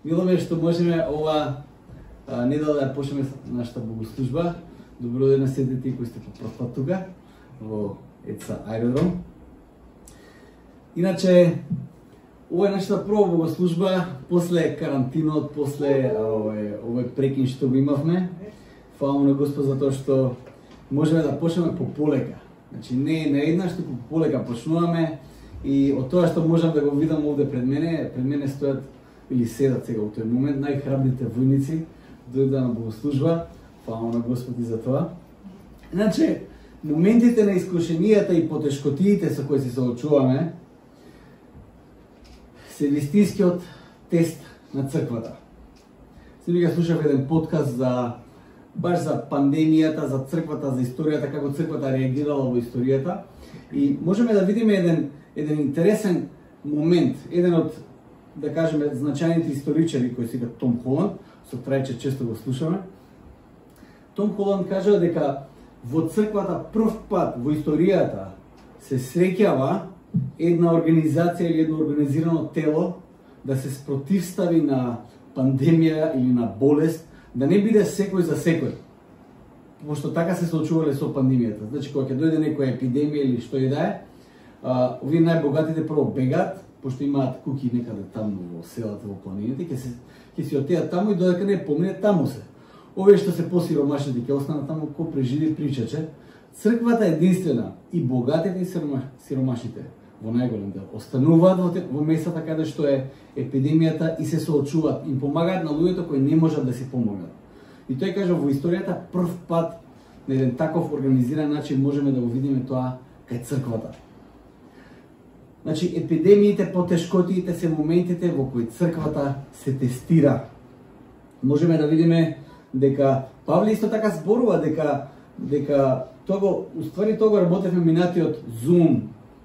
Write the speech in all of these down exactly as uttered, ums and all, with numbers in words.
Мило ме што можеме ова недела да почнеме нашата богослужба. Добро ден на сите тие кои сте по прв пат тука во ЕЦА Аеродром. Иначе, ова е нашата прва богослужба после карантинот, после овој, овој прекин што го имавме. Фала на Господ за тоа што можеме да почнеме по полека. Значи не е наеднаш, туку по полека почнуваме и од тоа што можам да го видам овде пред мене, пред мене стојат или седат сега во тој момент најхрабрите војници дојдоа на богослужба. Фала на Господ и за тоа. Иначе, моментите на искушенијата и потешкотиите со кои се соочуваме се вистинскиот тест на црквата. Сега слушав еден подкаст за баш за пандемијата, за црквата, за историјата, како црквата реагирала во историјата и можеме да видиме еден еден интересен момент, еден од, да кажеме, значајните историчари кои се вика Том Холанд, со Трајче често го слушаме. Том Холанд кажа дека во црквата прв пат во историјата се среќава една организација или едно организирано тело да се спротивстави на пандемија или на болест, да не биде секој за секој. Пошто така се соочувале со пандемијата. Значи, кога ќе дојде некоја епидемија или што и да е, овие најбогатите прво бегат, пошто имаат куки некаде таму во селата, во планините, ќе се ќе си отидат таму и додека не помине таму се. Овие што се посиромашните ќе останат таму, кој преживи причаче. Црквата е единствена и богатите и сиромашните во најголем дел остануваат во, во местата каде што е епидемијата и се соочуваат, им помагаат на луѓето кои не можат да си помогнат. И тој кажа во историјата прв пат на еден таков организиран начин можеме да го видиме тоа кај црквата. Значи епидемиите, потешкотиите се моментите во кои црквата се тестира. Можеме да видиме дека Павле исто така зборува дека дека тоа го уствари тоа го работевме минатиот Zoom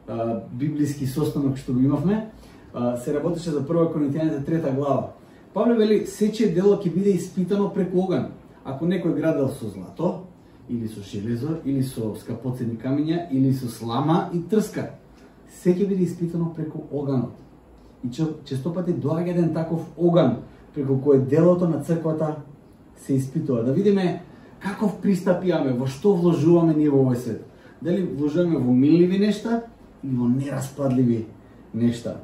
а, библиски состанок што го имавме, а, се работеше за прва Коринтијаните трета глава. Павле вели сече дело ќе биде испитано преку оган. Ако некој градел со злато или со железо или со скапоцени камиња или со слама и трска, се ќе биде испитано преку оганот. И често пати доаѓа еден таков оган преку кој делото на црквата се испитува. Да видиме каков пристап имаме, во што вложуваме ние во овој свет. Дали вложуваме во милливи нешта или во нераспадливи нешта.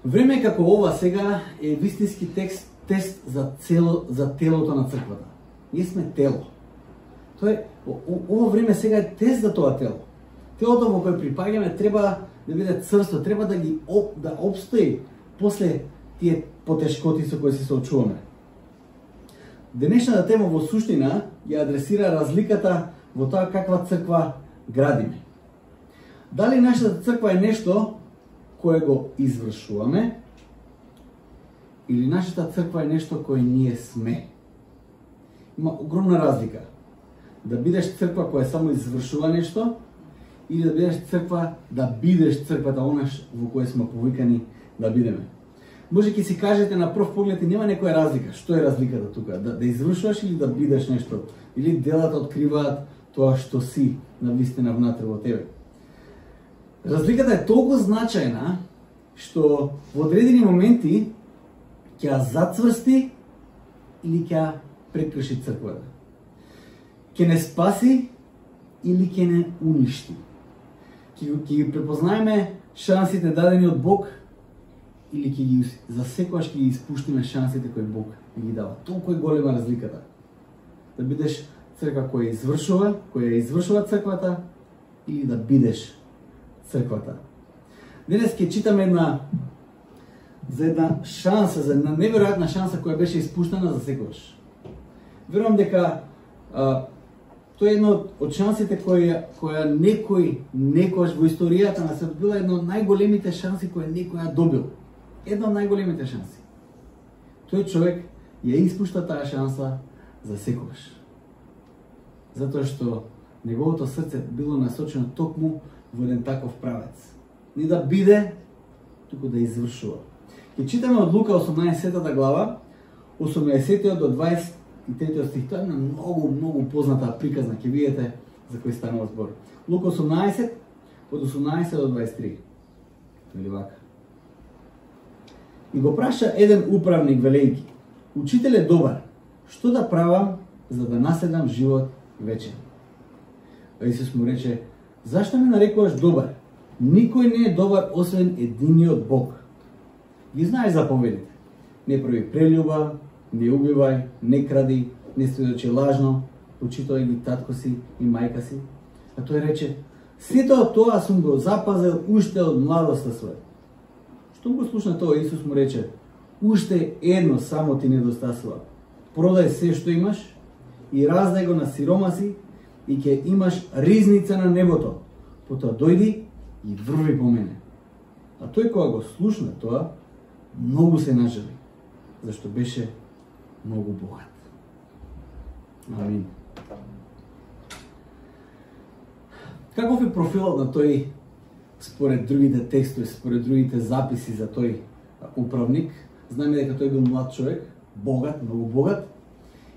Време како ова сега е вистински текст, тест за, цело, за телото на црквата. Ние сме тело. Тоа е, ово време сега е тест за тоа тело. Телото во кое припаѓаме треба да биде црсто, треба да ги оп, да обстои после тие потешкоти со кои се соочуваме. Денешната тема во суштина ја адресира разликата во тоа каква црква градиме. Дали нашата црква е нешто кое го извршуваме или нашата црква е нешто кое ние сме? Има огромна разлика. Да бидеш црква која само извршува нешто или да бидеш црква, да бидеш црквата онаш во која сме повикани да бидеме. Може ќе си кажете на прв поглед и нема некоја разлика. Што е разликата тука? Да, да извршуваш или да бидеш нешто? Или делата откриваат тоа што си на вистина внатре во тебе? Разликата е толку значајна што во одредени моменти ќе ја зацврсти или ќе ја прекрши црквата. Ќе не спаси или ќе не уништи. Ќе ги препознаеме шансите дадени од Бог или ќе ги засекогаш ќе ги испуштиме шансите кои Бог ги дава. Толку е голема разликата. Да бидеш црква која извршува, која извршува црквата или да бидеш црквата. Денес ќе читаме една за една шанса, за една неверојатна шанса која беше испуштена за секогаш. Верувам дека а, тоа е едно од шансите која која некој некогаш во историјата на светот била една од најголемите шанси која некој ја добил. Една од најголемите шанси. Тој човек ја испушта таа шанса за секогаш. Затоа што неговото срце било насочено токму во еден таков правец. Не да биде, туку да извршува. Ќе читаме од Лука осумнаесетата глава, осумнаесетиот до дваесет и третиот стих. Тоа е една многу, многу позната приказна, ќе видите за кој станува збор. Лука осумнаесет, од осумнаесет до дваесет и три. Или вака. и го праша еден управник велејќи: Учителе добар, што да правам за да наследам живот вечен? А Исус му рече: Зашто ме нарекуваш добар? Никој не е добар освен единиот Бог. Ги знаеш заповедите: не прави прелюба, не убивај, не кради, не сведочи лажно, почитувај ги татко си и мајка си. А тој рече: сето тоа сум го запазил уште од младоста своја. Штом го слушна тоа, Исус му рече: уште едно само ти недостасува. Продај се што имаш и раздај го на сиромаси и ќе имаш ризница на небото. Потоа дојди и врви по мене. А тој кога го слушна тоа, многу се нажали, зашто беше многу богат. Амин. Каков е профилот на тој според другите текстови, според другите записи за тој управник? Знаеме дека тој бил млад човек, богат, многу богат,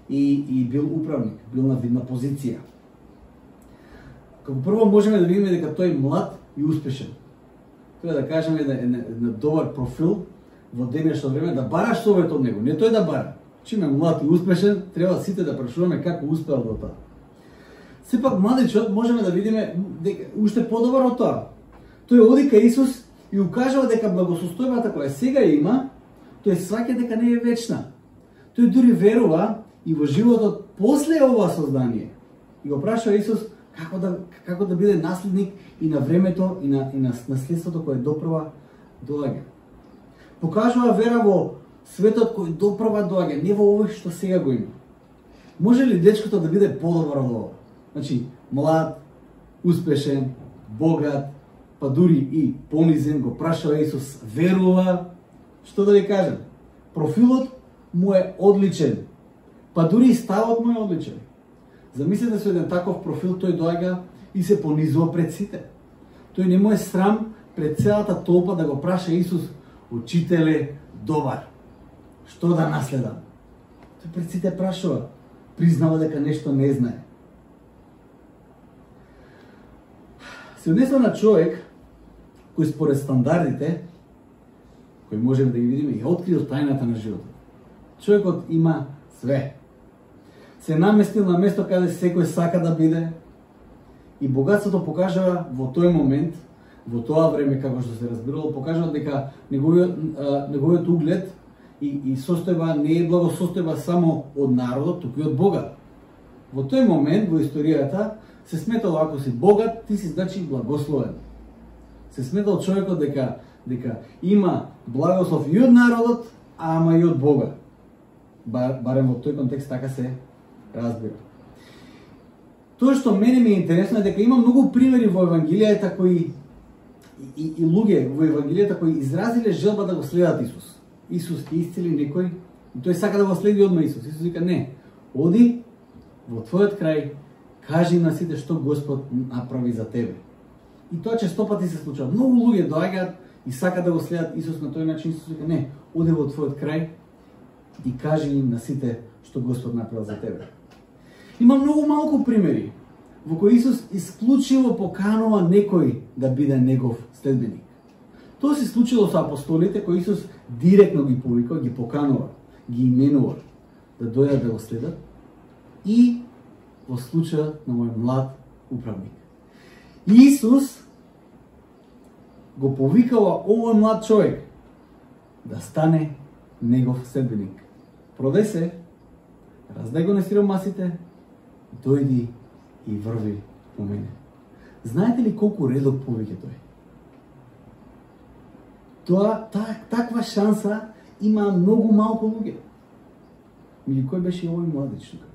и, и бил управник, бил на видна позиција. Како прво можеме да видиме дека тој млад и успешен. Тоа да кажеме да е на добар профил во денешно време, да бараш совет од него, не тој да бара. Чим е млад и успешен, треба сите да прашуваме како успеал до тоа. Сепак младичот можеме да видиме дека уште подобар од тоа. Тој оди кај Исус и укажува дека благосостојбата која сега има, тој сваќа дека не е вечна. Тој дури верува и во животот после ова создание. И го прашува Исус како да како да биде наследник и на времето и на и на наследството кое допрва доаѓа. Покажува вера во светот кој допрва доаѓа, не во овој што сега го има. Може ли дечкото да биде подобар од ова? Значи, млад, успешен, богат, па дури и понизен, го прашува Исус, верува, што да ви кажем? Профилот му е одличен, па дури и ставот му е одличен. Замислете со еден таков профил, тој доаѓа и се понизува пред сите. Тој не му е срам пред целата толпа да го праша Исус: Учителе добар, што да наследам? Тој пред сите прашува, признава дека нешто не знае. Се однесува на човек кој според стандардите, кој можеме да ги видиме, и открил тајната на животот. Човекот има све. Се наместил на место каде секој сака да биде, и богатството покажува во тој момент, во тоа време, како што се разбирало, покажува дека неговиот, неговиот углед и, и состојба не е благосостојба само од народот, туку и од Бога. Во тој момент во историјата се сметало, ако си богат, ти си значи благословен. Се сметал човекот дека дека има благослов и од народот, ама и од Бога. Бар, барем во тој контекст така се разбира. Тоа што мене ми е интересно е дека има многу примери во Евангелијата кои и, и, и луѓе во Евангелијата кои изразиле желба да го следат Исус. Исус ќе исцели некој, и тој сака да го следи одма Исус. Исус вика: не, оди во твојот крај, кажи на сите што Господ направи за тебе. И тоа честопати се случува. Многу луѓе доаѓаат и сакаат да го следат Исус на тој начин. Исус вика: не, оди во твојот крај и кажи им на сите што Господ направил за тебе. Има многу малку примери во кои Исус исклучиво поканува некој да биде негов следбеник. Тоа се случило со апостолите, кои Исус директно ги повика, ги поканува, ги именува да дојдат да го следат, и во случајот на мој млад управник. Исус го повикава овој млад човек да стане негов следбеник. Продај се, раздај го на сиромасите, дојди и врви по мене. Знаете ли колку редок повеќе тој? Тоа, та, таква шанса има многу малку луѓе. Меѓу кој беше и овој младич тука?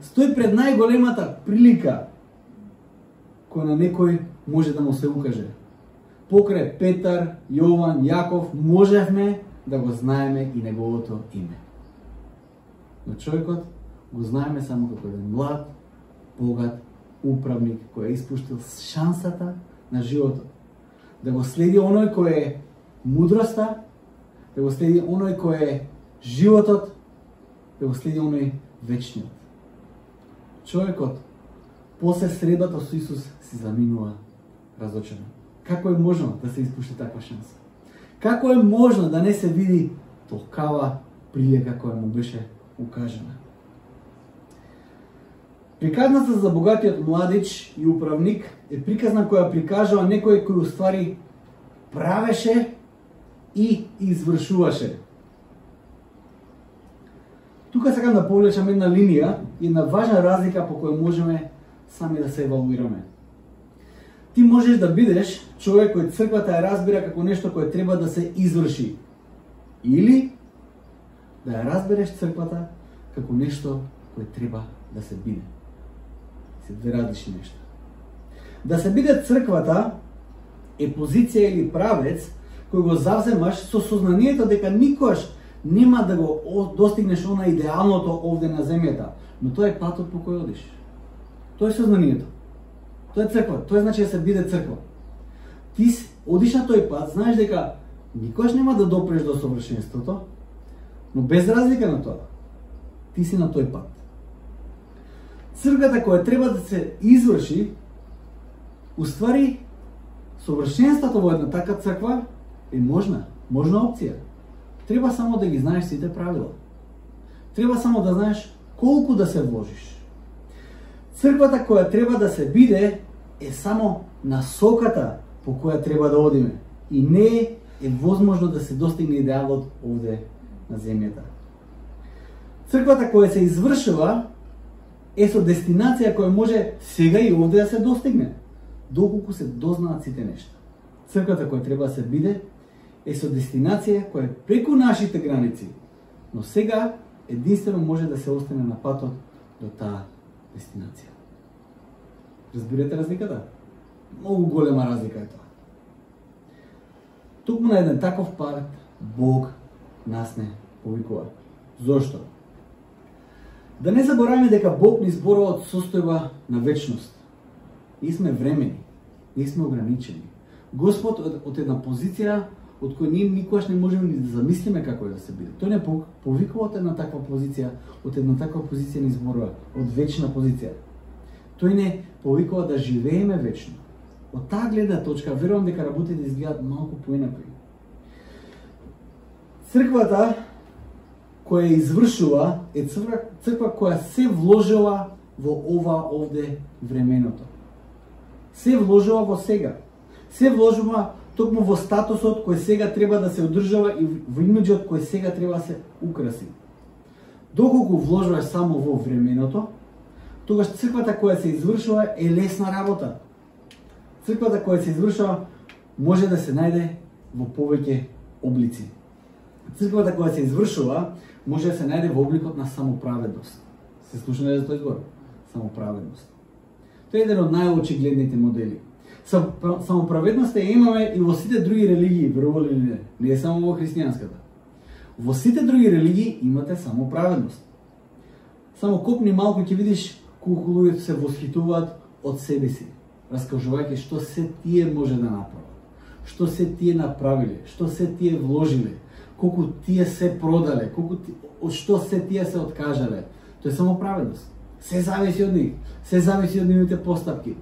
Стои пред најголемата прилика која на некој може да му се укаже. Покрај Петар, Јован, Јаков можевме да го знаеме и неговото име. Но човекот го знаеме само како еден млад, богат управник кој е испуштил шансата на животот. Да го следи оној кој е мудроста, да го следи оној кој е животот, да го следи оној вечниот. Човекот после средбата со Исус си заминува разочаран. Како е можно да се испушти таква шанса? Како е можно да не се види толкава прилика која му беше укажена? Приказната за богатиот младич и управник е приказна која прикажува некој кој уствари правеше и извршуваше. Тука сакам да повлечам една линија и една важна разлика по која можеме сами да се евалуираме. Ти можеш да бидеш човек кој црквата ја разбира како нешто кое треба да се изврши. Или да ја разбереш црквата како нешто кое треба да се биде. Се две различни нешта. Да се биде црквата е позиција или правец кој го завземаш со сознанието дека никогаш нема да го достигнеш она идеалното овде на земјата, но тоа е патот по кој одиш. Тоа е сознанието. Тоа е црква, тоа значи да се биде црква. Ти одиш на тој пат, знаеш дека никогаш нема да допреш до совршенството, но без разлика на тоа, ти си на тој пат. Црквата која треба да се изврши, уствари совршенството во една така црква е можна, можна опција. Треба само да ги знаеш сите правила. Треба само да знаеш колку да се вложиш. Црквата која треба да се биде е само насоката по која треба да одиме и не е возможно да се достигне идеалот овде на земјата. Црквата која се извршува е со дестинација која може сега и овде да се достигне, доколку се дознаат сите нешта. Црквата која треба да се биде е со дестинација која е преку нашите граници, но сега единствено може да се остане на патот до таа дестинација. Разбирате разликата? Многу голема разлика е тоа. Токму на еден таков пат Бог нас не повикува. Зошто? Да не забораваме дека Бог ни зборува од состојба на вечност. Ние сме времени, ние сме ограничени. Господ од една позиција од која ние никогаш не можеме ни да замислиме како е да се биде. Тој не повикува од една таква позиција, од една таква позиција ни зборува, од вечна позиција. Тој не повикува да живееме вечно. Од таа гледна точка верувам дека работите изгледаат малку поинакви. Црквата која извршува е црква, црква која се вложила во ова овде временото. Се вложува во сега. Се вложува токму во статусот кој сега треба да се одржава и во имиџот кој сега треба да се украси. Доколку вложуваш само во временото, тогаш црквата која се извршува е лесна работа. Црквата која се извршува може да се најде во повеќе облици. Црквата која се извршува може да се најде во обликот на самоправедност. Се слушнали за тој збор? Самоправедност. Тоа е еден од најочигледните модели. Самоправедноста ја имаме и во сите други религии, верували или не, не е само во христијанската. Во сите други религии имате самоправедност. Само копни малку ќе видиш колку луѓето се восхитуваат од себе си, раскажувајќи што се тие може да направат, што се тие направиле, што се тие вложиле, колку тие се продале, колку од што се тие се откажале. Тоа е самоправедност. Се зависи од нив, се зависи од нивните постапки.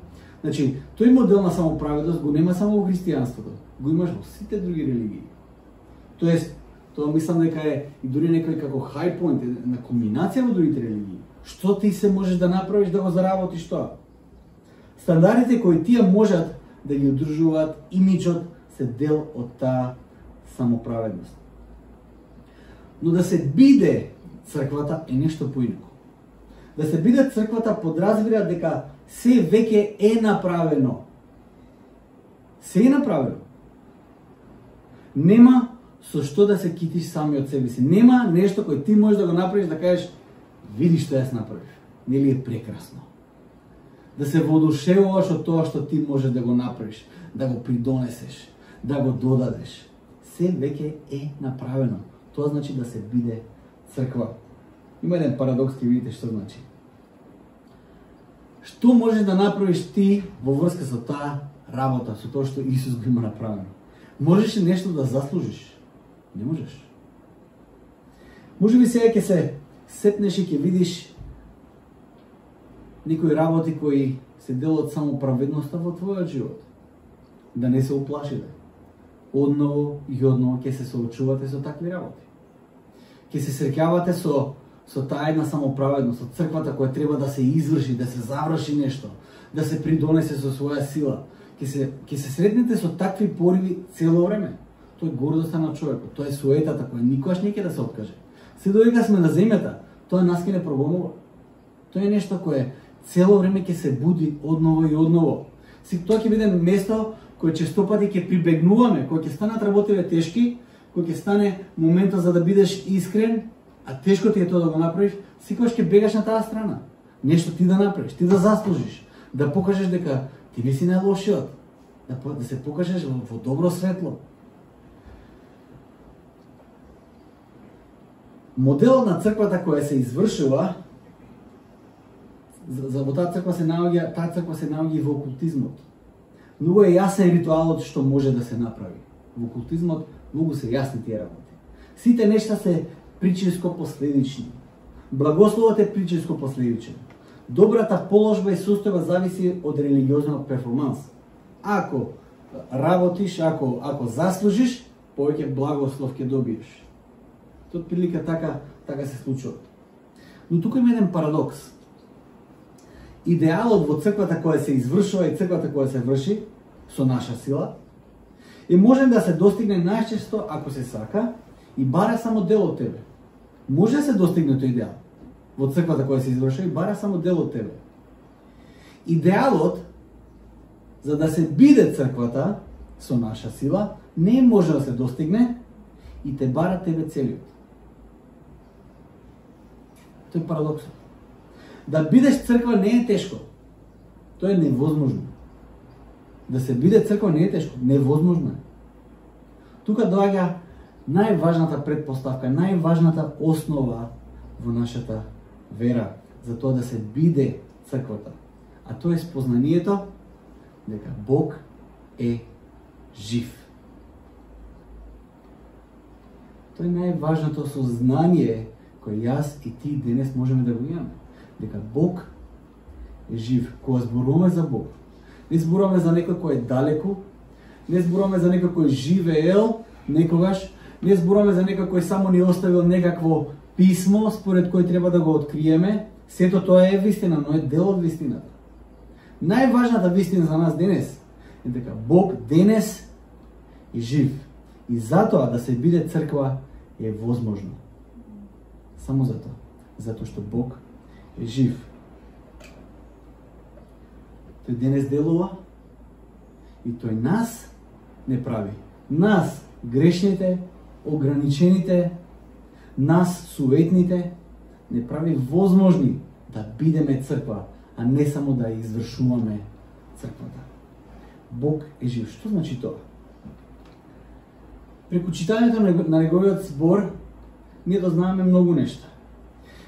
Значи, тој модел на самоправедност го нема само во христијанството, го имаш во сите други религии. Тоест, тоа мислам дека е и дури некој како high point, на комбинација во другите религии. Што ти се можеш да направиш да го заработиш тоа? Стандардите кои тие можат да ги одржуваат имиџот се дел од таа самоправедност. Но да се биде црквата е нешто поинако. Да се биде црквата подразбира дека се веќе е направено. Се е направено. Нема со што да се китиш сами од себе си. Нема нешто кој ти можеш да го направиш да кажеш види што јас направив. Нели е прекрасно. Да се воодушевуваш од тоа што ти можеш да го направиш, да го придонесеш, да го додадеш. Се веќе е направено. Тоа значи да се биде црква. Има еден парадокс, ќе видите што значи. Што можеш да направиш ти во врска со таа работа, со тоа што Исус го има направено? Можеш ли нешто да заслужиш? Не можеш. Може би сега ќе се сетнеш и ќе видиш некои работи кои се дел од самоправедноста во твојот живот. Да не се уплашите. одново и одново ќе се соочувате со такви работи. Ќе се среќавате со со таа една самоправедност, со црквата која треба да се изврши, да се заврши нешто, да се придонесе со своја сила. Ќе се ќе се сретнете со такви пориви цело време. Тоа е гордоста на човекот, тоа е суетата која никогаш не ќе да се откаже. Се додека сме на земјата, тоа нас ќе не прогонува. Тоа е нешто кое цело време ќе се буди одново и одново. Си тоа ќе биде место кое честопати ќе прибегнуваме, кога ќе станат работите тешки, кога ќе стане моментот за да бидеш искрен, а тешко ти е тоа да го направиш, секогаш ќе бегаш на таа страна. Нешто ти да направиш, ти да заслужиш, да покажеш дека ти не си најлошиот, да, да се покажеш во, во добро светло. Моделот на црквата која се извршува, за, за во таа црква се наоѓа, таа црква се наоѓа и во окултизмот. Многу е јасен ритуалот што може да се направи. Во окултизмот многу се јасни тие работи. Сите нешта се причинско последични. Благословот е причинско последичен. Добрата положба и состојба зависи од религиозниот перформанс. Ако работиш, ако ако заслужиш, повеќе благослов ќе добиеш. Тоа прилика така така се случува. Но тука има еден парадокс. Идеалот во црквата која се извршува и црквата која се врши со наша сила и може да се достигне најчесто ако се сака и бара само дел од тебе. Може да се достигне тој идеал во црквата која се извршува и бара само дел од тебе. Идеалот за да се биде црквата со наша сила не може да се достигне и те бара тебе целиот. Тој е парадоксот. Да бидеш црква не е тешко. Тоа е невозможно. Да се биде црква не е тешко, невозможно е. Тука доаѓа најважната предпоставка, најважната основа во нашата вера за тоа да се биде црквата. А тоа е спознанието дека Бог е жив. Тоа е најважното сознание кое јас и ти денес можеме да го имаме. Дека Бог е жив. Кога зборуваме за Бог, не зборуваме за некој кој е далеку, не зборуваме за некој кој живеел некогаш, не зборуваме за некој кој само ни оставил некакво писмо според кој треба да го откриеме. Сето тоа е вистина, но е дел од вистината. Најважната вистина за нас денес е дека Бог денес е жив. И затоа да се биде црква е возможно. Само затоа. Затоа што Бог е жив. Тој денес делува и тој нас не прави. Нас, грешните, ограничените, нас, суетните, не прави возможни да бидеме црква, а не само да извршуваме црквата. Бог е жив. Што значи тоа? Преку читањето на неговиот збор, ние дознаваме многу нешта.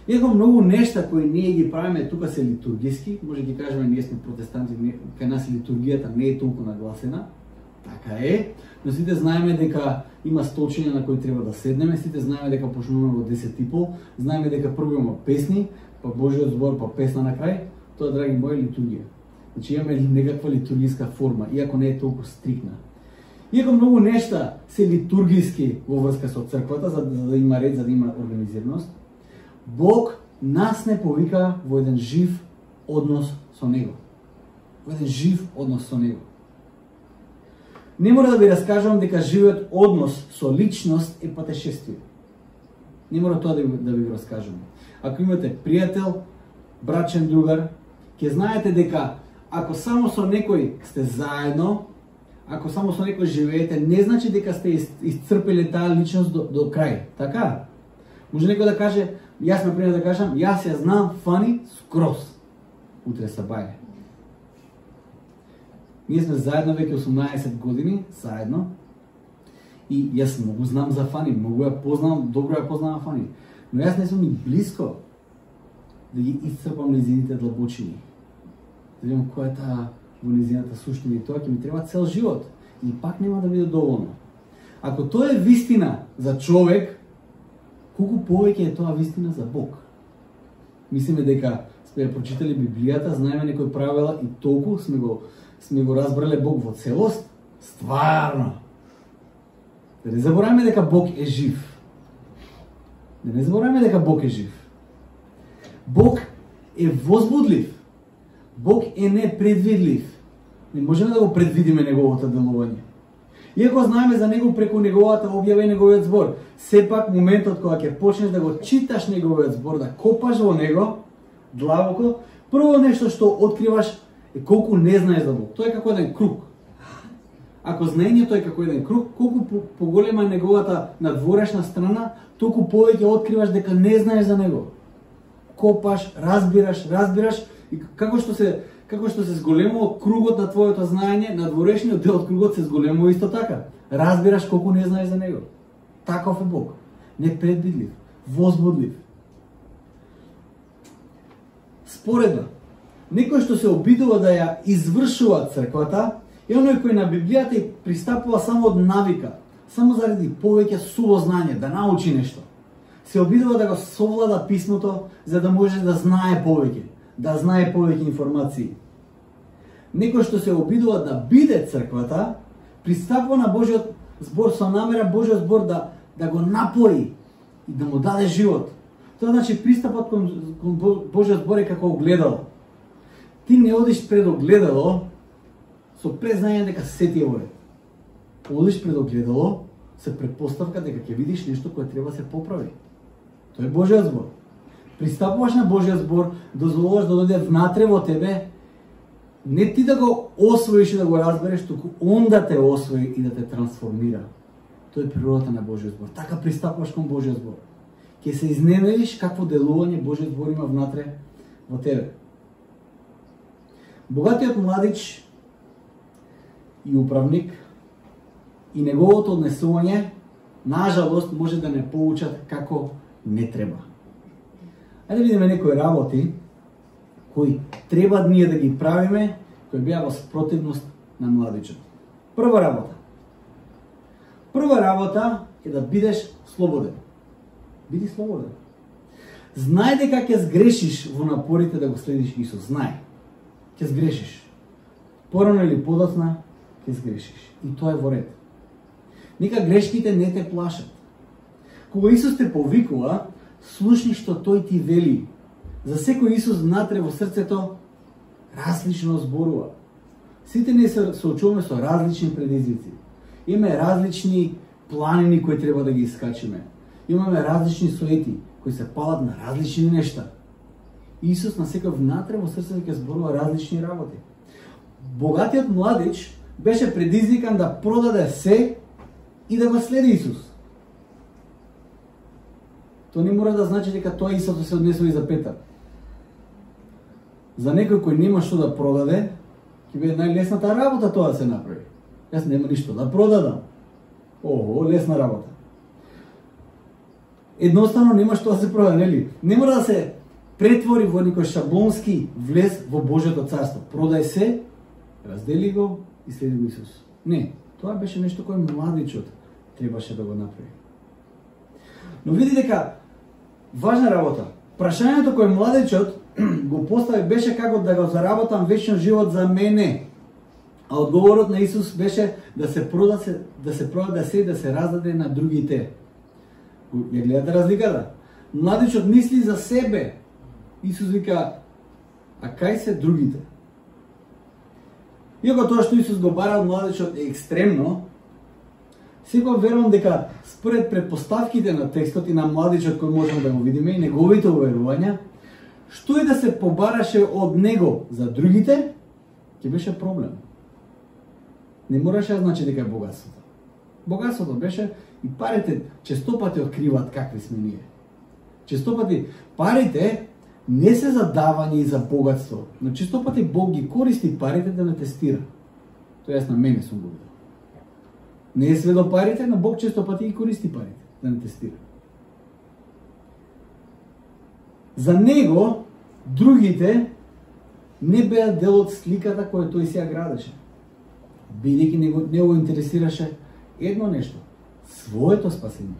Иако многу нешта кои ние ги правиме тука се литургиски, може ги кажеме ние сме протестанти, кај нас литургијата не е толку нагласена, така е, но сите знаеме дека има столчиња на кои треба да седнеме, сите знаеме дека почнуваме во десет и пол, знаеме дека прво има песни, па Божиот збор, па песна на крај, тоа, драги мои, литургија. Значи имаме некаква литургиска форма, иако не е толку стрикна. Иако многу нешта се литургиски во врска со црквата, за да, за да има ред, за да има организираност, Бог нас не повика во еден жив однос со Него. Во еден жив однос со Него. Не мора да ви раскажам дека живиот однос со личност е патешествие. Не мора тоа да ви, да ви го раскажам. Ако имате пријател, брачен другар, ќе знаете дека ако само со некој сте заедно, ако само со некој живеете, не значи дека сте исцрпели таа личност до, до крај. Така? Може некој да каже, јас например да кажам, јас ја знам Фани скроз. Утре са бајле. Ние сме заедно веќе осумнаесет години, заедно. И јас многу знам за Фани, многу ја познавам, добро ја познавам Фани. Но јас не сум ни близко да ги исцрпам незините длабочини. Да видам која е таа во незината суштина и тоа ќе ми треба цел живот. И пак нема да биде доволно. Ако тоа е вистина за човек, колку повеќе е тоа вистина за Бог. Мислиме дека сме прочитали Библијата, знаеме некои правила и толку сме го сме го разбрале Бог во целост. Стварно. Да не забораваме дека Бог е жив. Да не забораваме дека Бог е жив. Бог е возбудлив. Бог е непредвидлив. Не можеме да го предвидиме неговото делување. Иако знаеме за него преку неговата објава и неговиот збор, сепак моментот кога ќе почнеш да го читаш неговиот збор, да копаш во него длабоко, прво нешто што откриваш е колку не знаеш за Бог. Тој е како еден круг. Ако знаењето е како еден круг, колку поголема е неговата надворешна страна, толку повеќе откриваш дека не знаеш за него. Копаш, разбираш, разбираш и како што се како што се зголемува кругот на твоето знаење, надворешниот дел од кругот се зголемува исто така. Разбираш колку не знаеш за него. Таков е Бог. Непредвидлив, возбудлив. Споредно, некој што се обидува да ја извршува црквата, е оној кој на Библијата и пристапува само од навика, само заради повеќе суво знање, да научи нешто. Се обидува да го совлада писмото за да може да знае повеќе, да знае повеќе информации. Некој што се обидува да биде црквата, пристапува на Божиот збор со намера Божиот збор да да го напои и да му даде живот. Тоа значи пристапот кон, кон Божиот збор е како огледало. Ти не одиш пред огледало со презнање дека се ти е во ред. Одиш пред огледало со претпоставка дека ќе видиш нешто кое треба да се поправи. Тоа е Божиот збор. Пристапуваш на Божиот збор, дозволуваш да дојде внатре во тебе, не ти да го освоиш и да го разбереш, туку он да те освои и да те трансформира. Тоа е природата на Божиот збор. Така пристапуваш кон Божиот збор. Ќе се изненадиш какво делување Божиот збор има внатре во тебе. Богатиот младич и управник и неговото однесување, нажалост, може да не поучат како не треба. Ајде да видиме некои работи кои треба ние да ги правиме, кои беа во спротивност на младичот. Прва работа. Прва работа е да бидеш слободен. Биди слободен. Знај дека ќе сгрешиш во напорите да го следиш Исус. Знај. Ќе сгрешиш. Порано или подоцна ќе сгрешиш. И тоа е во ред. Нека грешките не те плашат. Кога Исус те повикува, слушни што тој ти вели. За секој Исус внатре во срцето различно зборува. Сите ние се соочуваме со различни предизвици. Имаме различни планини кои треба да ги искачиме. Имаме различни суети кои се палат на различни нешта. Исус на секој внатре во срцето ќе зборува различни работи. Богатиот младич беше предизвикан да продаде се и да го следи Исус. Тоа не мора да значи дека тоа Исус се однесува и за Петар. За некој кој нема што да продаде, ќе биде најлесната работа тоа да се направи. Јас нема ништо да продадам. Ого, лесна работа. Едноставно нема што да се продаде, нели? Не мора да се претвори во некој шаблонски влез во Божјото царство. Продај се, раздели го и следи го Исус. Не, тоа беше нешто кое младичот требаше да го направи. Но види дека важна работа. Прашањето кое младичот го постави беше како да го заработам вечен живот за мене. А одговорот на Исус беше да се прода се, да се продаде се и да се раздаде на другите. Ја гледате разликата? Младичот мисли за себе. Исус вика, а кај се другите? Иако тоа што Исус го бара од младичот е екстремно, сепак верувам дека според предпоставките на текстот и на младичот кој можеме да го видиме и неговите уверувања, што и да се побараше од него за другите, ќе беше проблем. Не мораше да значи дека е богатството. Богатството беше и парите честопати откриваат какви сме ние. Честопати парите не се за давање и за богатство, но честопати Бог ги користи парите да не тестира. Тоа јас на мене сум го видел. Не е све до парите, но Бог често пати ги користи парите да не тестира. За него другите не беа дел од сликата која тој си ја градеше. Бидејќи него не го интересираше едно нешто, своето спасение.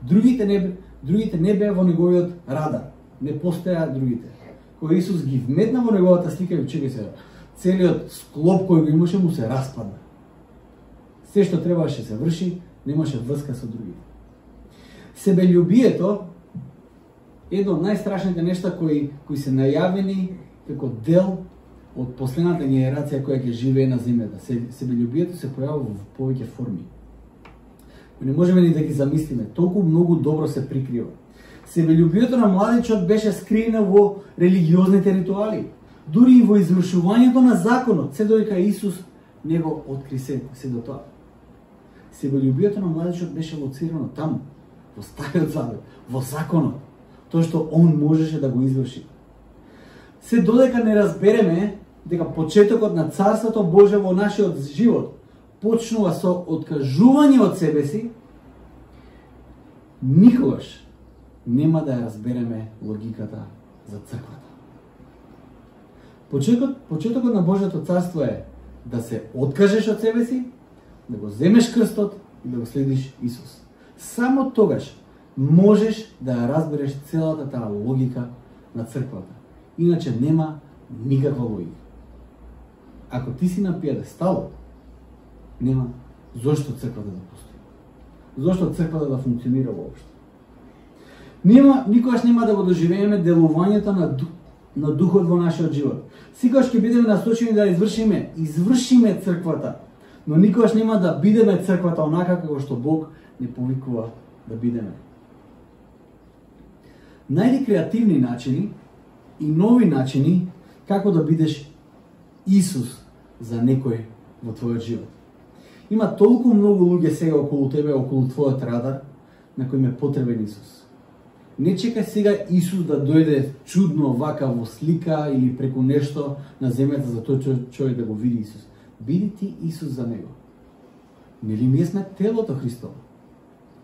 Другите не другите не беа во неговиот радар, не постоеа другите. Кога Исус ги вметна во неговата слика и чекај се, целиот склоп кој го имаше му се распадна. Се што требаше се врши, немаше врска со другите. Себељубието е едно од најстрашните нешта кои кои се најавени како дел од последната генерација која ќе живее на земјата. Себељубието се појавува во повеќе форми. Не можеме ни да ги замислиме, толку многу добро се прикрива. Себељубието на младичот беше скриено во религиозните ритуали, дури и во извршувањето на законот, се додека Исус не го откри се, се до тоа. Себељубието на младичот беше лоцирано таму, во Стариот Завет, во законот, тоа што он можеше да го изврши. Се додека не разбереме дека почетокот на Царството Божие во нашиот живот почнува со откажување од себе си, никогаш нема да ја разбереме логиката за црквата. Почетокот, почетокот на Божјото царство е да се откажеш од себе си, да го земеш крстот и да го следиш Исус. Само тогаш можеш да ја разбереш целата таа логика на црквата. Иначе нема никаква логика. Ако ти си на пиедестал, нема зошто црквата да постои. Зошто црквата да функционира воопшто. Нема, никогаш нема да го доживееме делувањето на, дух, на духот во нашиот живот. Секогаш ќе бидеме насочени да извршиме, извршиме црквата, но никогаш нема да бидеме црквата онака како што Бог не повикува да бидеме. Најди креативни начини и нови начини како да бидеш Исус за некој во твојот живот. Има толку многу луѓе сега околу тебе, околу твојот радар, на кој ме потребен Исус. Не чекај сега Исус да дојде чудно вака во слика или преку нешто на земјата за тој човек да го види Исус. Биди ти Исус за него. Нели ние сме телото Христово?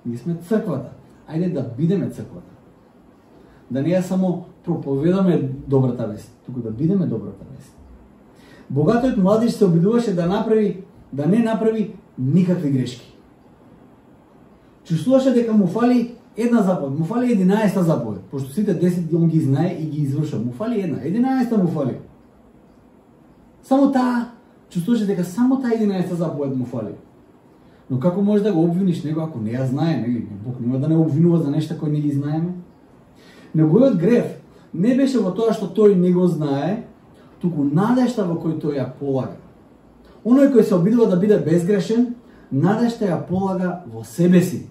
Ние сме црквата. Ајде да бидеме црквата. Да не ја само проповедаме добрата вест, туку да бидеме добрата вест. Богатиот младиш се обидуваше да направи, да не направи никакви грешки. Чувствуваше дека му фали една заповед, му фали единаесета заповед, пошто сите десет он ги знае и ги извршува. Му фали една, единаесета му фали. Само таа, чувствуваше дека само таа единаесета заповед му фали. Но како можеш да го обвиниш него ако не ја знае, нели? Бог нема да не обвинува за нешта кои не ги знаеме. Неговиот грев не беше во тоа што тој не го знае, туку надежта во кој тој ја полага. Оној кој се обидува да биде безгрешен, надежта ја полага во себе си.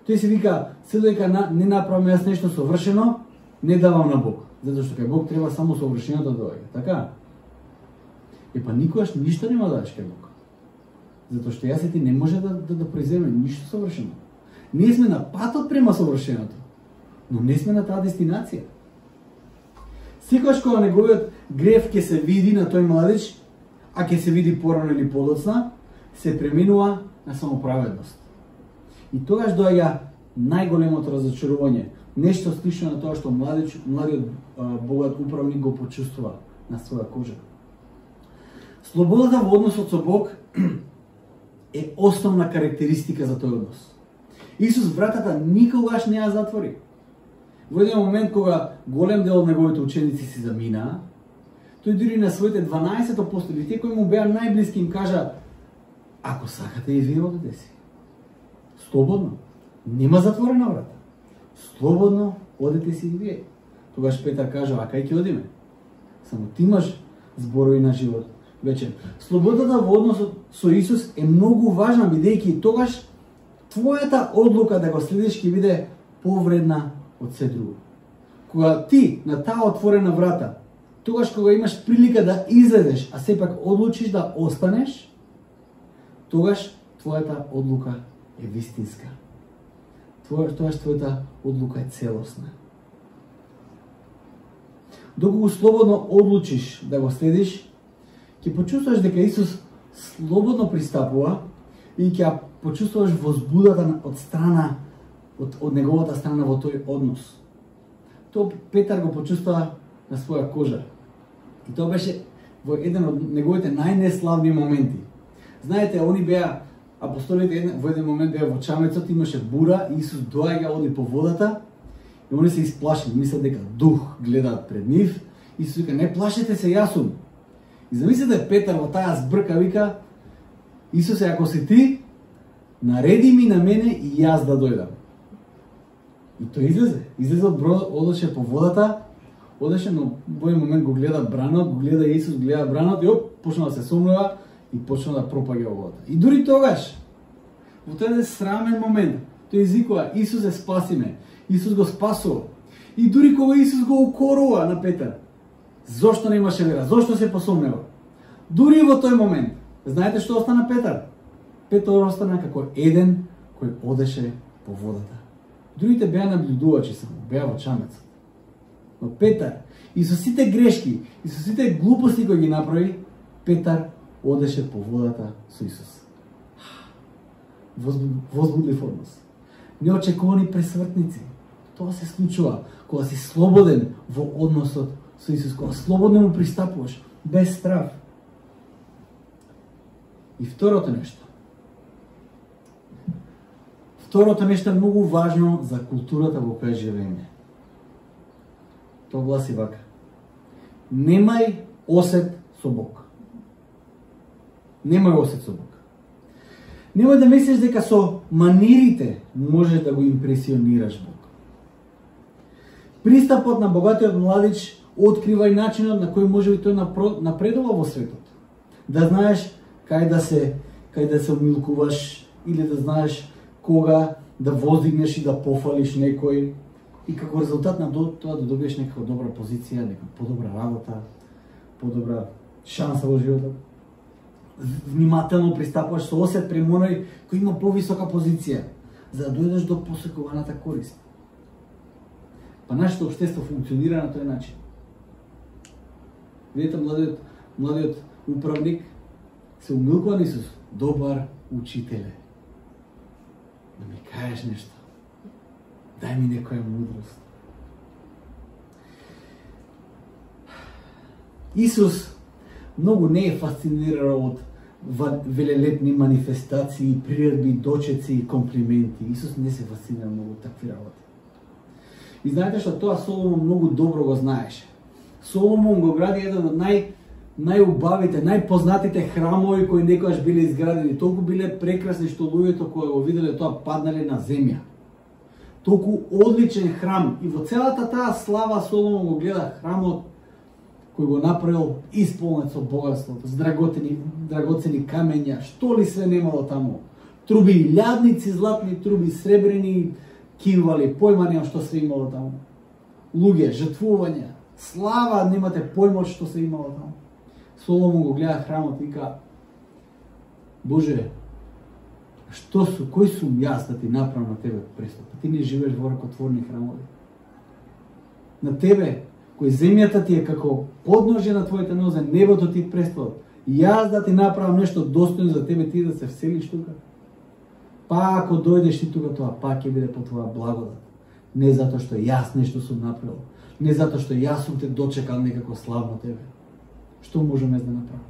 Тој си вика, се додека не направам јас нешто совршено, не давам на Бог, затоа што кај Бог треба само совршеното да доаѓа, така? Епа никогаш ништо нема да дадеш кај Бог. Затоа што јас и ти не може да да, да произведеме ништо совршено. Ние сме на патот према совршеното, но не сме на таа дестинација. Секогаш кога неговиот грев ќе се види на тој младич, а ќе се види порано или подоцна, се пременува на самоправедност. И тогаш доаѓа најголемото разочарување, нешто слично на тоа што младич, младиот богат управник го почувствува на своја кожа. Слободата во односот со Бог е основна карактеристика за тој однос. Исус вратата никогаш не ја затвори. Во еден момент кога голем дел од неговите ученици си заминаа, тој дури на своите дванаесет апостоли, тие кои му беа најблиски, им кажа: ако сакате и вие одете си. Слободно. Нема затворена врата. Слободно одете си и вие. Тогаш Петар кажа: а кај ќе одиме? Само ти имаш зборови на живот. Вече, слободата во односот со Исус е многу важна, бидејќи тогаш твојата одлука да го следиш ќе биде повредна од се друго. Кога ти на таа отворена врата, тогаш кога имаш прилика да излезеш, а сепак одлучиш да останеш, тогаш твојата одлука е вистинска. Тогаш твојата одлука е целосна. Доколку слободно одлучиш да го следиш, ќе почувствуваш дека Исус слободно пристапува и ќе почувствуваш возбудата од страна, од, од неговата страна во тој однос. Тоа Петар го почувствува на своја кожа. И тоа беше во еден од неговите најнеславни моменти. Знаете, они беа, апостолите во еден момент беа во чамецот, имаше бура, и Исус доаѓа, оди по водата, и они се исплашени, мислат дека дух гледаат пред нив. Исус вика: не плашете се, јас сум. И замислете Петар во таа збрка, вика: Исусе, ако си ти, нареди ми на мене и јас да дојдам. И тој излезе. Излезе од бродот, одеше по водата, одеше, но во овој момент го гледа бранот, го гледа Исус, гледа бранот и оп, почна да се сомнува и почна да пропаѓа во водата. И дури тогаш, во тој срамен момент, тој извикува: Исусе, спаси ме. Исус го спасува. И дури кога Исус го укорува на Петар, зошто немаше вера? Зошто се посомнева? Дури во тој момент, знаете што остана Петар? Петар остана како еден кој одеше по водата. Другите беа наблюдувачи само, беа во чамецот. Но Петар, и со сите грешки, и со сите глупости кои ги направи, Петар одеше по водата со Исус. Возбудлив однос. Неочекувани пресвртници. Тоа се случува кога си слободен во односот со Исус, кога слободно му пристапуваш, без страв. И второто нешто. Второто нешто е многу важно за културата во која живееме. Тоа гласи вака: немај осет со Бог. Немај осет со Бог. Немој да мислиш дека со манирите можеш да го импресионираш Бог. Пристапот на богатиот младич открива и начинот на кој може би тој напредува во светот. Да знаеш кај да се кај да се умилкуваш, или да знаеш кога да воздигнеш и да пофалиш некој, и како резултат на тоа да добиеш некаква добра позиција, нека подобра работа, подобра шанса во животот. Внимателно пристапуваш со осет према оној кој има повисока позиција, за да дојдеш до посекуваната корист. Па нашето општество функционира на тој начин. Видите, младиот, младиот управник се умилкува на Исус: добар учителе, да ми кажеш нешто, дај ми некоја мудрост. Исус многу не е фасциниран од велелепни манифестации, приредби, дочеци и комплименти. Исус не се фасцинира многу од такви работи. И знаете што, тоа Соломон многу добро го знаеше. Соломон го гради еден од нај најубавите, најпознатите храмови кои некогаш биле изградени. Толку биле прекрасни што луѓето кои го виделе тоа паднале на земја. Толку одличен храм, и во целата таа слава Соломон го гледа храмот кој го направил исполнет со богатството, с драгоцени, драгоцени камења, што ли све немало таму. Труби, лјадници, златни труби, сребрени кивали, појма нема што се имало таму. Луѓе, жртвувања, слава, немате појма што се имало таму. Соломон го гледа храмот и вика: Боже, што су, кој сум јас да ти направам на тебе престол? Ти не живееш во ракотворни храмови. На тебе, кој земјата ти е како подножје на твоите нозе, небото ти престол. Јас да ти направам нешто достојно за тебе, ти да се вселиш тука. Па ако дојдеш ти тука, тоа пак ќе биде по твоја благодат. Не затоа што јас нешто сум направил, не затоа што јас сум те дочекал некако славно тебе. Што можеме да направиме?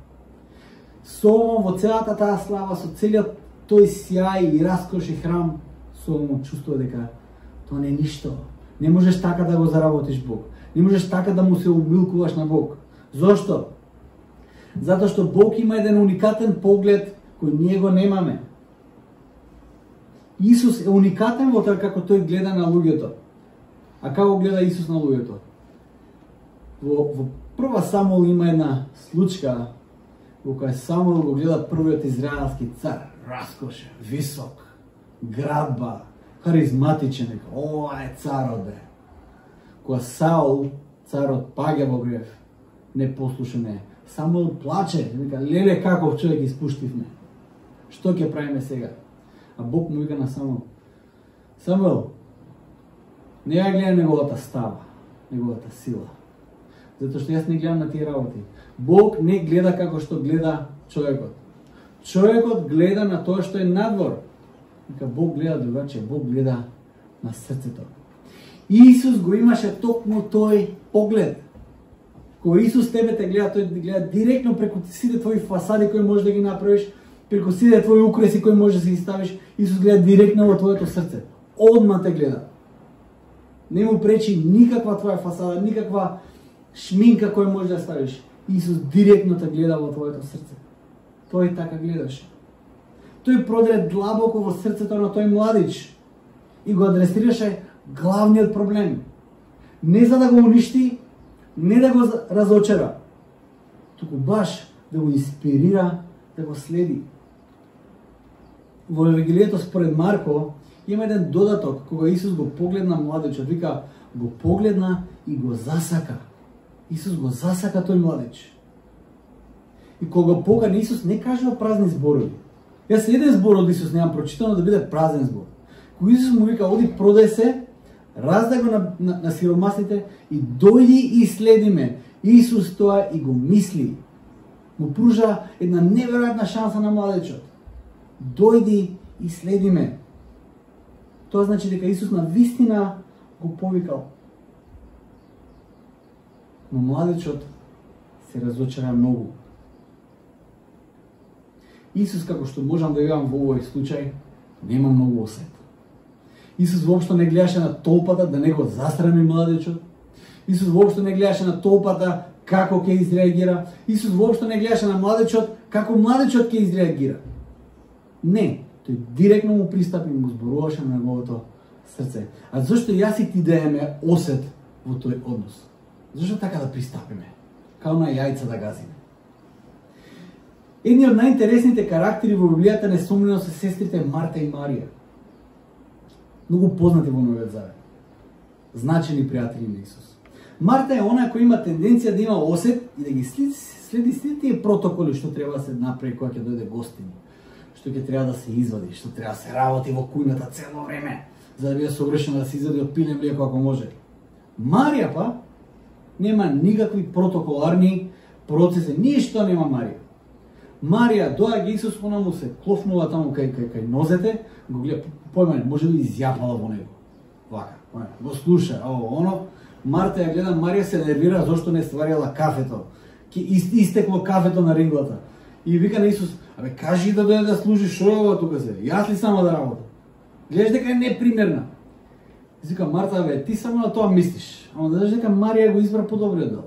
Соломон во целата таа слава, со целиот тој сјај и раскош и храм, Соломон чувствува дека тоа не е ништо. Не можеш така да го заработиш Бог. Не можеш така да му се умилкуваш на Бог. Зошто? Затоа што Бог има еден уникатен поглед кој ние го немаме. Исус е уникатен во тоа како тој гледа на луѓето. А како гледа Исус на луѓето? Во, во прва Самуил има една случка во која Самуил го гледа првиот израелски цар, раскош, висок, градба, харизматичен, ова е царот бе. Кога Саул, царот, паѓа во грев, непослушен е. Самуил плаче, вика: леле, каков човек испуштивме. Што ќе правиме сега? А Бог му вика на Самуил: Самуил, не ја гледам неговата става, неговата сила. Затоа што јас не гледам на тие работи. Бог не гледа како што гледа човекот. Човекот гледа на тоа што е надвор. Вика, Бог гледа другаче, Бог гледа на срцето. Исус го имаше токму тој поглед. Кога Исус тебе те гледа, тој гледа директно преку сите твои фасади кои можеш да ги направиш, преку сите твои украси кои можеш да ги ставиш. Исус гледа директно во твоето срце. Одма те гледа. Не му пречи никаква твоја фасада, никаква шминка која можеш да ставиш. Исус директно те гледа во твоето срце. Тој така гледаше. тој продре длабоко во срцето на тој младич и го адресираше главниот проблем. Не за да го уништи, не да го разочара, туку баш да го инспирира да го следи. Во Евангелието според Марко има еден додаток кога Исус го погледна младичот, вика го погледна и го засака. Исус го засака тој младич. И кога го покани, Исус не кажува празни зборови. Јас еден збор од Исус немам прочитано да биде празен збор. Кога Исус му вика оди продај се, раздај го на, на, на сиромасите и дојди и следи ме. Исус тоа и го мисли. Му пружа една неверојатна шанса на младечот. Дојди и следи ме. Тоа значи дека Исус на вистина го повикал. Но младечот се разочара многу. Исус, како што можам да видам во овој случај, нема многу осет. Исус воопшто не гледаше на толпата да не го засрами младечот. Исус воопшто не гледаше на толпата како ќе изреагира. Исус воопшто не гледаше на младечот како младечот ќе изреагира. Не, тој директно му пристапи и му зборуваше на неговото срце. А зашто јас и ти да имаме осет во тој однос? Зашто така да пристапиме? Као на јајца да газиме. Едни од најинтересните карактери во Библијата несомнено се сестрите Марта и Марија. Многу познати во Новиот Завет. Значени пријатели на Исус. Марта е она која има тенденција да има осет и да ги следи, следи сите тие протоколи што треба да се направи кога ќе дојде гостини, што ќе треба да се извади, што треба да се работи во кујната цело време, за да биде совршено да се извади од пиле млеко ако може. Марија па нема никакви протоколарни процеси, ништо нема Марија. Марија доаѓа Исус, она му се клофнува таму кај кај кај нозете, го гледа, појма, може би изјапала во него. Вака, го слуша, ово, оно. Марта ја гледа, Марија се нервира зошто не стварила кафето. Ке истекло кафето на ринглата. И вика на Исус, абе кажи да дојде да служи, шо е ова тука се? Јас ли само да работам? Гледаш дека е непримерна. Вика Марта, бе, ти само на тоа мислиш. Ама да знаеш дека Марија го избра подобриот дел.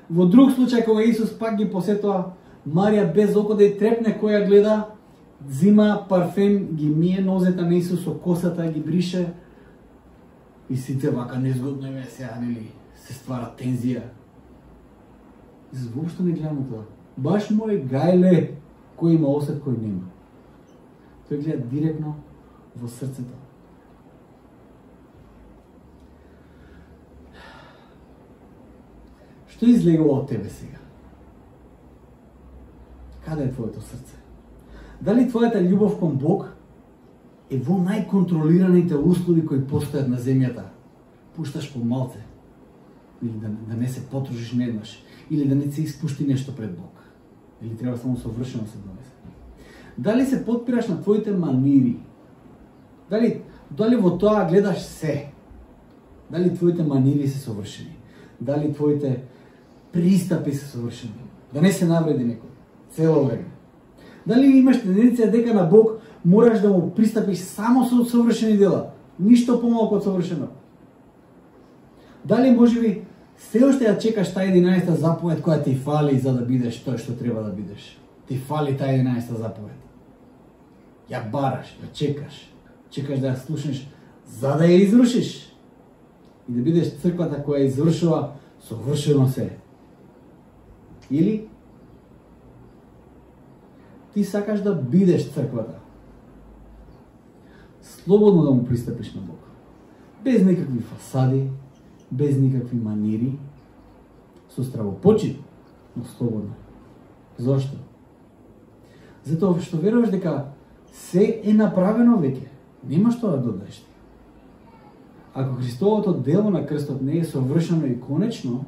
Во друг случај кога Исус пак ги посетува, Марија без око да ја трепне која гледа, зима парфем, ги мие нозете на Исус со косата, ги брише и сите вака незгодно име сега, нели, се ствара тензија. Исус воопшто не гледа на тоа. Баш мој гајле кој има осет, кој нема. Тој гледа директно во срцето. Што излегува од тебе сега? Каде е твоето срце? Дали твојата љубов кон Бог е во најконтролираните услови кои постојат на земјата? Пушташ по малце, или да, да не се потружиш неднаш, или да не се испушти нешто пред Бог, или треба само совршено се донесе. Дали се подпираш на твоите манири? Дали, дали во тоа гледаш се? Дали твоите манири се совршени? Дали твоите пристапи се совршени? Да не се навреди некој цело време. Дали имаш тенденција дека на Бог мораш да му пристапиш само со совршени дела, ништо помалку од совршено? Дали можеби се уште ја чекаш таа единаесета заповед која ти фали за да бидеш тој што треба да бидеш? Ти фали таа единаесета заповед. Ја бараш, ја чекаш, чекаш да ја слушнеш за да ја извршиш и да бидеш црквата која извршува совршено се. Или ти сакаш да бидеш црквата, слободно да му пристапиш на Бог, без никакви фасади, без никакви манири, со стравопочит, но слободно. Зошто? Затоа што веруваш дека се е направено веќе, нема што да додаеш. Ако Христовото дело на крстот не е совршено и конечно,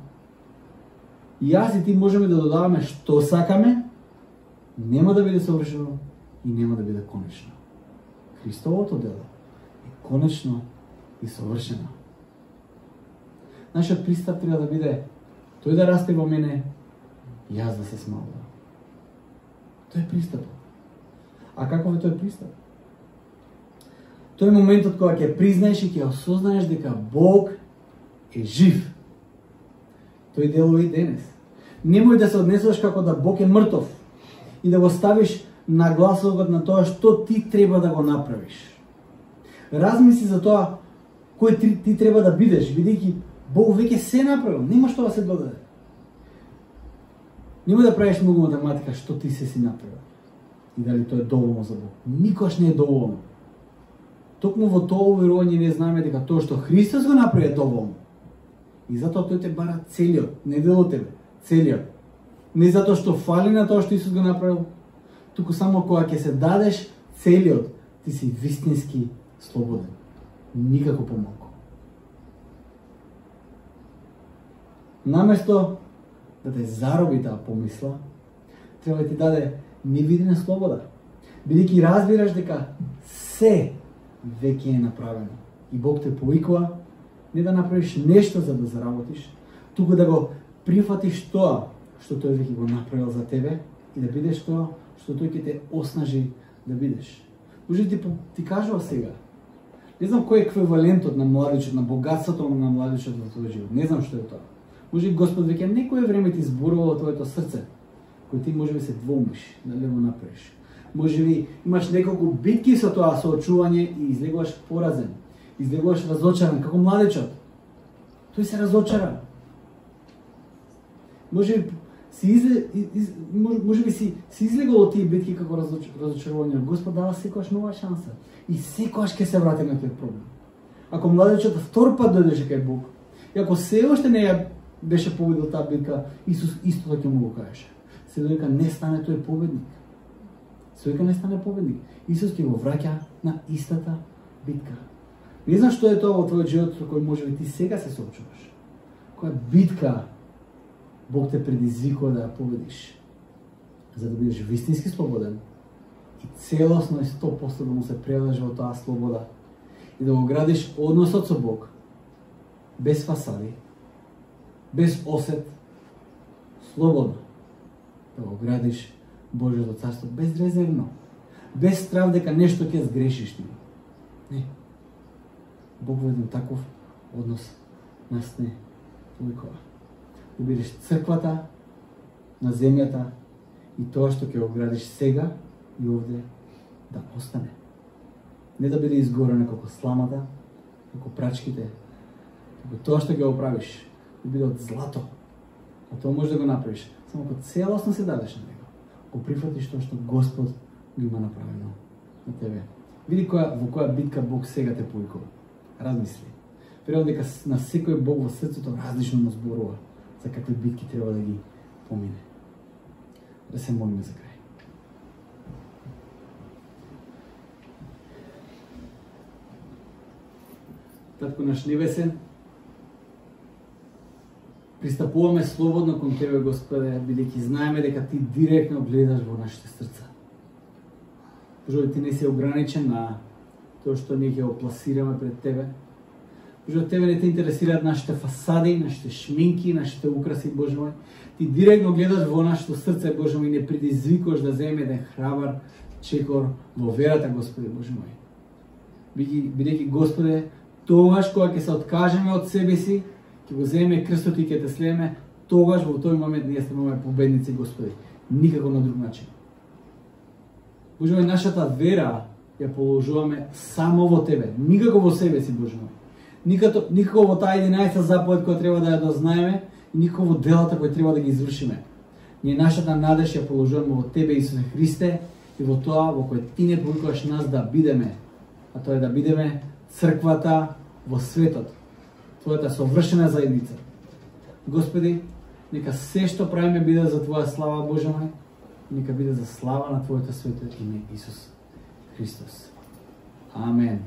јас и ти можеме да додаваме што сакаме, нема да биде совршено и нема да биде конечно. Христовото дело е конечно и совршено. Нашиот пристап треба да биде тој да расте во мене, јас да се смалувам. Тој е пристапот. А каков е тој пристап? Тој е моментот кога ќе признаеш и ќе осознаеш дека Бог е жив. Тој делува и денес. Немој да се однесуваш како да Бог е мртов и да го ставиш нагласокот на тоа што ти треба да го направиш. Размисли за тоа кој ти, ти треба да бидеш, бидејќи Бог веќе се направил, нема што да се додаде. Нема да правиш многу математика што ти се си направил. И дали тоа е доволно за Бог. Никош не е доволно. Токму во тоа уверување не знаеме дека тоа што Христос го направи е доволно. И затоа тој те бара целиот, не дел од тебе, целиот. Не затоа што фали на тоа што Исус го направил, туку само кога ќе се дадеш целиот, ти си вистински слободен. Никако помалку. Наместо да те зароби таа помисла, треба да ти даде невидена слобода. Бидејќи разбираш дека се веќе е направено. И Бог те повикува не да направиш нешто за да заработиш, туку да го прифатиш тоа што тој веќе го направил за тебе и да бидеш тоа што тој ќе те оснажи да бидеш. Може ти, ти кажува сега, не знам кој е еквивалентот на младичот, на богатството на младичот во твојот живот. Не знам што е тоа. Може Господ веќе некое време ти зборува во твоето срце, кој ти може би се двомиш дали го направиш. Може би имаш неколку битки со тоа соочување и излегуваш поразен, излегуваш разочаран, како младичот. Тој се разочара. Може би си изле, из, може, може би си, си излегол од тие битки како разоч, разочарување. Господ дава секогаш нова шанса и секогаш ќе се врати на тој проблем. Ако младичот втор пат дојдеше кај Бог, и ако се уште не ја беше победил таа битка, Исус истото ќе му го кажеше. Се додека не стане тој победник. Се додека не стане победник, Исус ќе го враќа на истата битка. Не знам што е тоа во твојот живот со кој може би ти сега се соочуваш. Која битка Бог те предизвикува да ја победиш, за да бидеш вистински слободен и целосно и сто проценти да му се предаш во таа слобода и да го градиш односот со Бог без фасади, без осет, слободно да го градиш Божјото царство безрезервно, без страв дека нешто ќе сгрешиш ти. Не. Бог во еден таков однос нас не повикува. Да бидеш црквата на земјата и тоа што ќе го градиш сега и овде да остане. Не да биде изгорено како сламата, како прачките, како тоа што ќе го правиш, да биде од злато. А тоа може да го направиш само кога целосно се дадеш на него. Ако прифатиш тоа што Господ го има направено на тебе. Види која, во која битка Бог сега те повикува. Размисли. Верувам дека на секој Бог во срцето различно му зборува за какви битки треба да ги помине. Да се молиме за крај. Татко наш небесен, пристапуваме слободно кон Тебе, Господе, бидејќи знаеме дека Ти директно гледаш во нашите срца. Боже, Ти не си ограничен на тоа што ние ќе го пласираме пред Тебе. Боже, Тебе не те интересираат нашите фасади, нашите шминки, нашите украси, Боже мој. Ти директно гледаш во нашето срце, Боже мој, и не предизвикуваш да земе еден храбар чекор во верата, Господи, Боже мој. Бидејќи, Господе, тогаш кога ќе се откажеме од себе си, ќе го земеме крстот и ќе те следеме, тогаш во тој момент ние стануваме победници, Господи. Никако на друг начин. Боже мој, нашата вера ја положуваме само во Тебе, никако во себе си, Боже мој. Никако, никако во таа единаесета заповед која треба да ја дознаеме и никако во делата кои треба да ги извршиме. Ние нашата надеж ја положуваме во Тебе, Исусе Христе, и во тоа во кој Ти не повикуваш нас да бидеме, а тоа е да бидеме црквата во светот, Твојата совршена заедница. Господи, нека се што правиме биде за Твоја слава, Боже мој, нека биде за слава на Твоето свето име, Исус Христос. Амен.